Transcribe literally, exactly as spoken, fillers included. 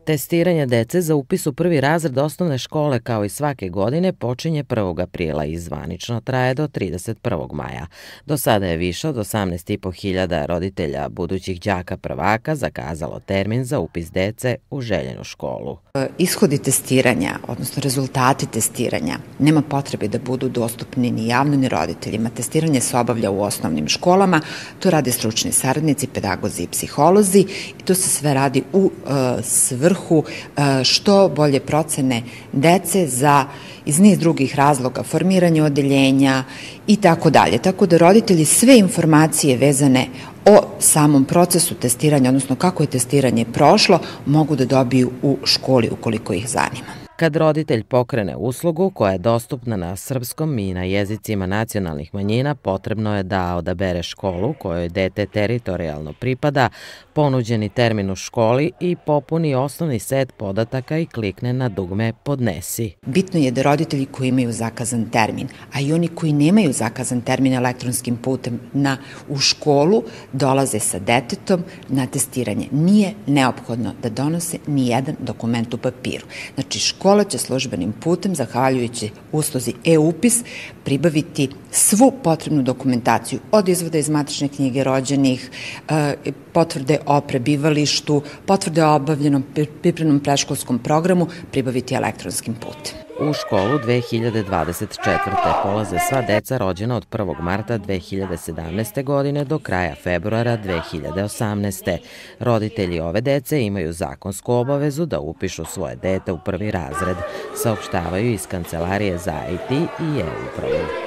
Testiranje dece za upis u prvi razred osnovne škole kao i svake godine počinje prvog aprila i zvanično traje do trideset prvog maja. Do sada je više od osamnaest i po hiljada roditelja budućih đaka prvaka zakazalo termin za upis dece u željenu školu. Ishodi testiranja, odnosno rezultati testiranja, nema potrebe da budu dostupni ni javno ni roditeljima. Testiranje se obavlja u osnovnim školama, to rade stručni saradnici, pedagozi i psiholozi i to se sve radi u uh, svrhu što bolje procene dece za iz niz drugih razloga, formiranje odeljenja i tako dalje. Tako da roditelji sve informacije vezane o samom procesu testiranja, odnosno kako je testiranje prošlo, mogu da dobiju u školi ukoliko ih zanima. Kad roditelj pokrene uslugu koja je dostupna na srpskom i na jezicima nacionalnih manjina, potrebno je da odabere školu kojoj dete teritorijalno pripada, ponuđeni termin u školi i popuni osnovni set podataka i klikne na dugme Podnesi. Bitno je da roditelji koji imaju zakazan termin, a i oni koji nemaju zakazan termin elektronskim putem na, u školu, dolaze sa detetom na testiranje. Nije neophodno da donose ni jedan dokument u papiru. Znači, škola će službenim putem, zahvaljujući usluzi e-upis, pribaviti svu potrebnu dokumentaciju od izvoda iz matične knjige rođenih, potvrde o prebivalištu, potvrde o obavljenom pripremnom predškolskom programu, pribaviti elektronskim putem. U školu dve hiljade dvadeset četvrte. polaze sva deca rođena od prvog marta dve hiljade sedamnaeste. godine do kraja februara dve hiljade osamnaeste. Roditelji ove dece imaju zakonsku obavezu da upišu svoje dete u prvi razred, saopštavaju iz Kancelarije za I T i e-upravu.